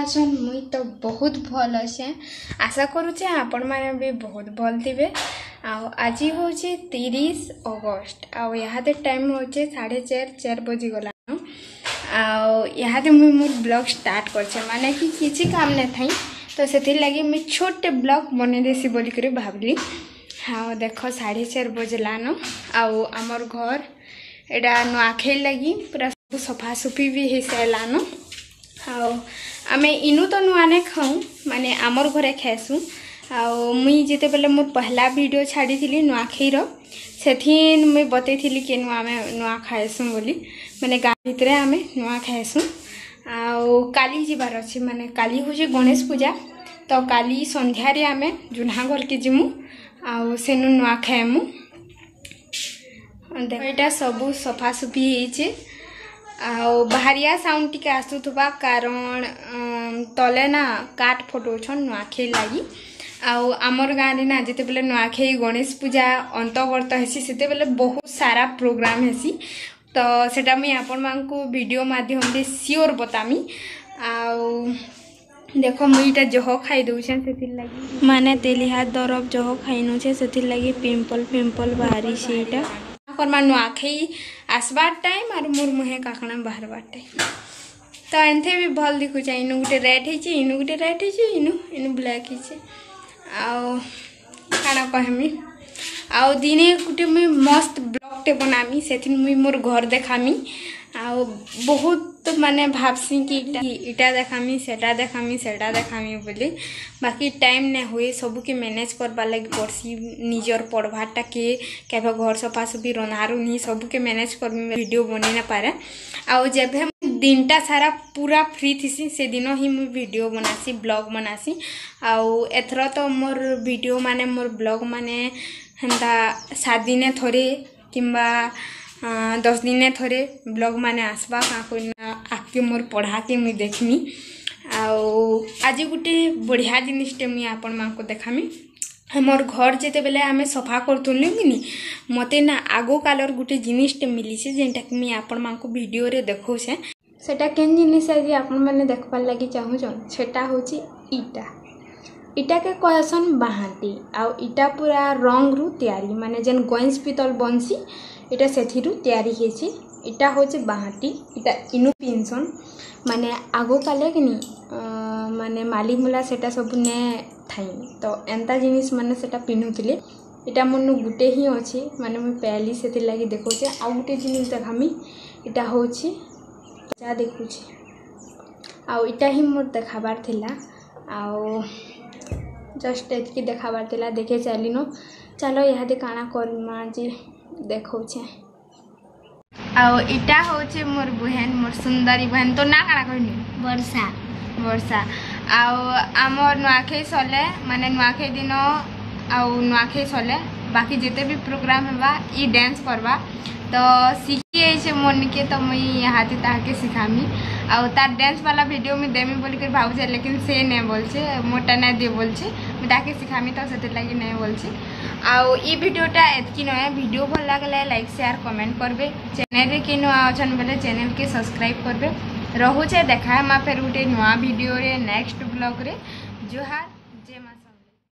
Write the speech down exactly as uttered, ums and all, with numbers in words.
ଅଛନ୍? ମୁଇଁ ତ ବହୁତ ଭଲ ଅଛେ। ଆଶା କରୁଛେ ଆପଣମାନେ ବି ବହୁତ ଭଲ ଥିବେ। ଆଉ ଆଜି ହେଉଛି ତିରିଶ ଅଗଷ୍ଟ ଆଉ ଇହାଦେ ଟାଇମ୍ ହେଉଛି ସାଢ଼େ ଚାରି ଚାରି ବଜିଗଲାନ। ଆଉ ଇହାଦେ ମୁଇଁ ମୋର୍ ବ୍ଲଗ୍ ଷ୍ଟାର୍ଟ କରିଛେ, ମାନେ କି କିଛି କାମ ନାଇଁ ଥାଇ ତ ସେଥିର୍ଲାଗି ମୁଇଁ ଛୋଟଟେ ବ୍ଲଗ୍ ବନେଇ ଦେସି ବୋଲିକରି ଭାବଲି। ଆଉ ଦେଖ, ସାଢ଼େ ଚାରି ବଜଲାନ ଆଉ ଆମର୍ ଘର ଏଇଟା ନୂଆଖାଇ ଲାଗି ପୁରା ସବୁ ସଫାସୁଫି ବି ହେଇସାରିଲାନ। ଆଉ ଆମେ ଇନୁ ତ ନୂଆ ନାଇଁ ଖାଉଁ, ମାନେ ଆମର୍ ଘରେ ଖାଏସୁଁ। ଆଉ ମୁଇଁ ଯେତେବେଲେ ମୋର୍ ପହଲା ଭିଡ଼ିଓ ଛାଡ଼ିଥିଲି ନୂଆଖାଇର, ସେଥିନ୍ ମୁଇଁ ବତେଇଥିଲି କି ନୂଆ ଆମେ ନୂଆ ଖାଏସୁଁ ବୋଲି, ମାନେ ଗାଁ ଭିତରେ ଆମେ ନୂଆ ଖାଏସୁଁ। ଆଉ କାଲି ଯିବାର ଅଛି, ମାନେ କାଲି ହେଉଛି ଗଣେଶ ପୂଜା, ତ କାଲି ସନ୍ଧ୍ୟାରେ ଆମେ ଜୁହ୍ନା ଘରକେ ଯିମୁ ଆଉ ସେନୁ ନୂଆ ଖାଏମୁ। ଦେଖ, ଏଇଟା ସବୁ ସଫାସୁଫି ହେଇଛେ। ଆଉ ବାହାରିଆ ସାଉଣ୍ଡ ଟିକେ ଆସୁଥିବା, କାରଣ ତଲେ ନା କାଠ ଫଟଉଛନ୍ ନୂଆଖାଇ ଲାଗି। ଆଉ ଆମର୍ ଗାଁରେ ନା ଯେତେବେଲେ ନୂଆଖାଇ, ଗଣେଶ ପୂଜା ଅନ୍ତବର୍ତ୍ତ ହେସି, ସେତେବେଲେ ବହୁତ ସାରା ପ୍ରୋଗ୍ରାମ ହେସି। ତ ସେଟା ମୁଇଁ ଆପଣମାନଙ୍କୁ ଭିଡ଼ିଓ ମାଧ୍ୟମରେ ସିଓର ବତାମି। ଆଉ ଦେଖ, ମୁଇଁ ଏଇଟା ଜହ ଖାଇ ଦଉଛେ, ସେଥିର୍ଲାଗି ମାନେ ତେଲିହା ଦରବ ଜହ ଖାଇନୁଛେ, ସେଥିର୍ଲାଗି ପିମ୍ପଲ୍ ଫିମ୍ପଲ୍ ବାହାରିছে ଏଇଟା। କର୍ମା, ନୂଆଖାଇ ଆସବାର୍ ଟାଇମ୍ ଆରୁ ମୋର୍ ମୁହେଁ କାକଣା ବାହାରବାର୍ ଟାଇମ୍। ତ ଏନ୍ଥେ ବି ଭଲ୍ ଦିଖୁଛେ। ଇନୁ ଗୁଟେ ରେଡ୍ ହେଇଛେ, ଇନୁ ଗୁଟେ ରେଡ୍ ହେଇଛେ, ଇନୁ ଇନୁ ବ୍ଲାକ୍ ହେଇଛେ। ଆଉ କାଣା କହେମି, ଆଉ ଦିନେ ଗୁଟେ ମୁଇଁ ମସ୍ତ ବ୍ଲଗ୍ଟେ ବନାମି, ସେଥିନ୍ ମୁଇଁ ମୋର୍ ଘର ଦେખાମି। ଆଉ ବହୁତ ମାନେ ଭାବସି କି ଇଟା ଇଟା ଦେખાମି, ସେଟା ଦେખાମି, ସେଟା ଦେખાମି ବୋଲି, ବାକି ଟାଇମ୍ ନାଇଁ ହୁଏ। ସବୁକେ ମ୍ୟାନେଜ୍ କରବାର୍ ଲାଗି ପଡ଼୍ସି, ନିଜର ପଢ଼ବାରଟାକେ, କେବେ ଘର ସଫାସୁଫି, ରନ୍ଧାରୁନ୍ଧି, ସବୁକେ ମ୍ୟାନେଜ୍ କରମି, ଭିଡ଼ିଓ ବନେଇ ନାଇଁ ପାରେ। ଆଉ ଯେଭେ ଦିନଟା ସାରା ପୁରା ଫ୍ରି ଥିସି, ସେଦିନ ହିଁ ମୁଇଁ ଭିଡ଼ିଓ ବନାସି, ବ୍ଲଗ୍ ବନାସି। ଆଉ ଏଥର ତ ମୋର୍ ଭିଡ଼ିଓ ମାନେ ମୋର୍ ବ୍ଲଗ୍ ମାନେ ହେନ୍ତା ସାତ ଦିନେ ଥରେ କିମ୍ବା ଦଶ ଦିନେ ଥରେ ବ୍ଲଗ୍ ମାନେ ଆସ୍ବା, କାଁ କହିନା ଆଗ୍କେ ମୋର୍ ପଢ଼ାକେ ମୁଇଁ ଦେଖ୍ମି। ଆଉ ଆଜି ଗୁଟେ ବଢ଼ିଆ ଜିନିଷଟେ ମୁଇଁ ଆପଣମାନଙ୍କୁ ଦେખાମି। ଆମର୍ ଘର ଯେତେବେଲେ ଆମେ ସଫା କରୁଥିଲୁ କିନି, ମତେ ନା ଆଗ କାଲର ଗୁଟେ ଜିନିଷଟେ ମିଲିଛେ, ଯେନ୍ଟାକି ମୁଇଁ ଆପଣମାନଙ୍କୁ ଭିଡ଼ିଓରେ ଦେଖଉଛେ। ସେଟା କେନ୍ ଜିନିଷ ଆଜି ଆପଣମାନେ ଦେଖବାର୍ ଲାଗି ଚାହୁଁଛନ୍? ସେଟା ହଉଛି ଇଟା। ଇଟାକେ କହେସନ୍ ବାହାନ୍ତି। ଆଉ ଇଟା ପୁରା ରଙ୍ଗରୁ ତିଆରି, ମାନେ ଯେନ୍ ଗଇଁସ ପିତଲ ବନସି, ଇଟା ସେଥିରୁ ତିଆରି ହେଇଛି। ଇଟା ହଉଛି ବାହାନ୍ତି। ଇଟା ଇନୁ ପିନ୍ଧସନ୍। ମାନେ ଆଗ କାଲେ କିନି ମାନେ ମାଲିମୁଲା ସେଟା ସବୁ ନେ ଥାଇ, ତ ଏନ୍ତା ଜିନିଷ ମାନେ ସେଟା ପିନ୍ଧୁଥିଲେ। ଇଟା ମୋର୍ନୁ ଗୁଟେ ହିଁ ଅଛି, ମାନେ ମୁଇଁ ପାଇଲି, ସେଥିର୍ଲାଗି ଦେଖଉଛେ। ଆଉ ଗୁଟେ ଜିନିଷ ଦେખાମି, ଇଟା ହଉଛି ଯା ଦେଖୁଛି। ଆଉ ଇଟା ହିଁ ମୋର୍ ଦେଖାବାର ଥିଲା, ଆଉ ଜଷ୍ଟ ଏତ୍କି ଦେଖାବାର ଥିଲା, ଦେଖେଇ ସାରିଲିନ। ଚାଲ, ଇହାଦେ କାଣା କର୍ମା ଯେ ଦେଖଉଛେ। ଆଉ ଇଟା ହଉଛି ମୋର୍ ବହେନ, ମୋର୍ ସୁନ୍ଦରୀ ବହେନ। ତୋ ନାଁ କାଣା କହିନି? ବର୍ଷା। ବର୍ଷା। ଆଉ ଆମର୍ ନୂଆଖାଇ ସରିଲେ, ମାନେ ନୂଆଖାଇ ଦିନ ଆଉ ନୂଆଖାଇ ସରିଲେ ବାକି ଯେତେ ବି ପ୍ରୋଗ୍ରାମ ହେବା, ଇ ଡ୍ୟାନ୍ସ କରବା। ତ ଶିଖି ଯାଇଛେ ମୋର୍ ନିକେ, ତ ମୁଇଁ ଇହାଦେ ତାହାକେ ଶିଖାମି। ଆଉ ତାର୍ ଡ୍ୟାନ୍ସ ବାଲା ଭିଡ଼ିଓ ମୁଇଁ ଦେମି ବୋଲିକରି ଭାବୁଛେ, ଲେକିନ୍ ସେ ନାଇଁ ବୋଲଛେ, ମୋରଟା ନାଇଁ ଦିଏ ବୋଲଛେ। ମୁଇଁ ତାହାକେ ଶିଖାମି ତ ସେଥିର୍ଲାଗି ନାଇଁ ବୋଲଛେ। ଆଉ ଇ ଭିଡ଼ିଓଟା ଏତ୍କି ନୁହେଁ। ଭିଡ଼ିଓ ଭଲ ଲାଗଲେ ଲାଇକ୍, ସେୟାର, କମେଣ୍ଟ କରବେ। ଚ୍ୟାନେଲରେ କିଏ ନୂଆ ଅଛନ୍ ବେଲେ ଚ୍ୟାନେଲକେ ସବସ୍କ୍ରାଇବ୍ କରବେ। ରହୁଛେ, ଦେଖା ହେମା ଫେର୍ ଗୋଟେ ନୂଆ ଭିଡ଼ିଓରେ, ନେକ୍ସଟ ବ୍ଲଗ୍ରେ। ଜୁହାର, ଜୟ ମା।